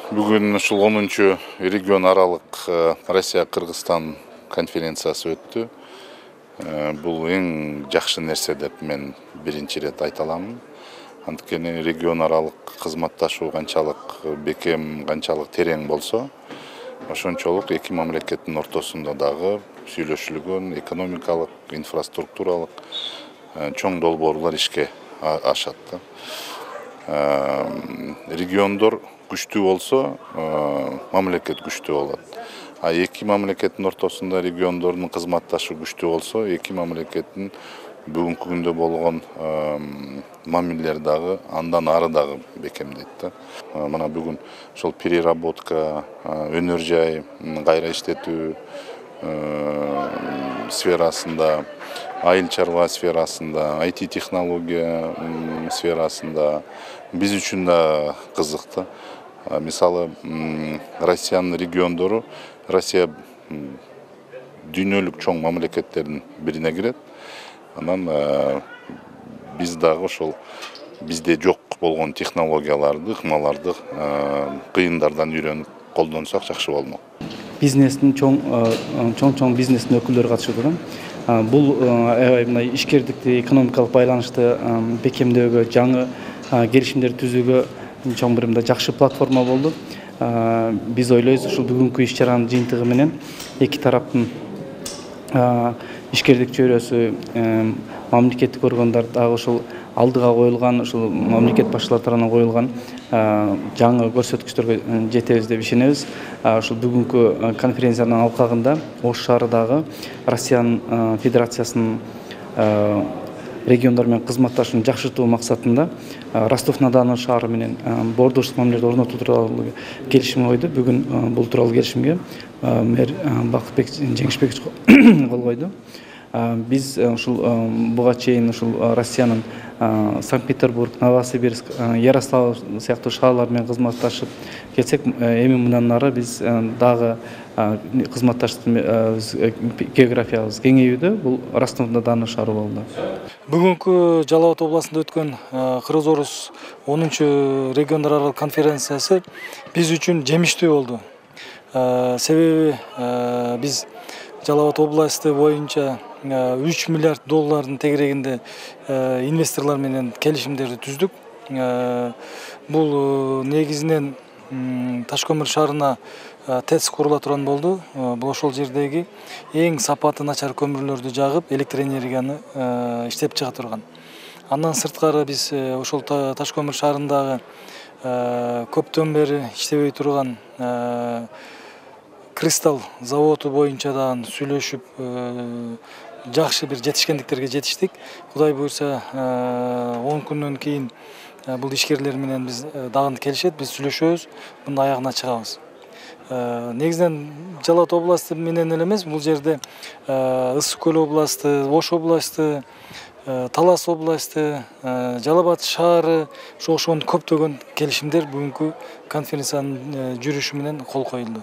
Бүгүн ушул 10 регион аралык Россия-Кыргызстан конференциясы өттү. Бул эң жакшы нерсе деп мен биринчи ирет айта аламын. Анткени регион аралык кызматташуу канчалык бекем, канчалык терең болсо, ошончолук эки мамлекеттин ортосунда дагы сүйлөшүлгөн экономикалык, инфраструктуралык чоң долбоорлор ишке ашат. Региондор күчтүү болсо, мамлекет күчтүү болот. А эки мамлекеттин ортосунда региондордун кызматташуу күчтүү болсо, эки мамлекеттин бүгүнкү күндө болгон мамилелер дагы андан ары дагы бекемдейт. Мына бүгүн ошол переработка, өнөр жай кайра иштетүү сферасында, айыл чарба сферасында, IT технология сферасында биз үчүн да кызык. Мисалы, Россиянын региондору Россия дүйнөлүк чоң мамлекеттердин бирине кирет. Анан биз дагы ошол бизде жок болгон технологияларды, ыкмаларды кыйындардан үйрөнүп колдонсок жакшы болмок. Бизнестин чоң бизнестин өкүлдөрү катышып турган. Бул мына ишкердикти, экономикалык байланышты бекемдөөгө, жаңы келишимдер түзүүгө чоң бир мындай жакшы платформа болду. Биз ойлойбуз, ушул бүгүнкү иш-чаранын жыйынтыгы менен эки тараптын ишкердик чөйрөсү, мамлекеттик органдар дагы ушул алдыга коюлган, ушул мамлекет башчылары тарабынан коюлган жаңы көрсөткүчтөргө жетебиз деп ишенебиз. Ушул бүгүнкү конференциянын алкагында Ош шаарындагы Россиянын Федерациясынын региондор менен кызматташууну жакшыртуу максатында Ростов-на-Дону шаары менен боордоштук мамилелерди орнотуу тууралуу келишим койду. Бүгүн бул тууралуу келишимге мэр Бакытбек Жеңишбекович кол койду. Биз ушул буга чейин ушул Россиянын Санкт-Петербург, Новосибирск, Ярославль сыяктуу шаарлар менен кызматташып келсек, эми мындан ары биз дагы кызматташтык географиябыз кеңейүүдө. Бул Ростов-на-Дону шаары болду. Бүгүнкү Жалал Абад областында өткөн Кыргыз-Орус 10 региондор аралык конференциясы биз үчүн жемиштүү болду. Себеби биз Жалал Абад областы боюнча 3 миллиард доллардын тегерегинде инвесторлор менен келишимдерди түздүк. Бул негизинен Ташкөмүр шаарына ТЭЦ курула турган болду. Бул ошол жердеги эң сапаты начар көмүрлөрдү жагып, электр энергияны иштеп чыга турган. Андан сырткары биз ошол Ташкөмүр шаарындагы көптөн бери иштебей турган Кристалл заводу боюнча дагы сүйлөшүп, жакшы бир жетишкендиктерге жетиштик. Кудай буйрса 10 күндөн кийин бул ишкерлер менен биз дагы келишет, биз сүйлөшөбүз, мунун аягына чыгабыз. Негизинен Жалал Абад областы менен эле эмес, бул жерде Ысык көл областы, Ош областы, Талас областы, Жалал Абад шаары, ошондой көптөгөн келишимдер бүгүнкү конференциянын жүрүшү менен кол коюлду.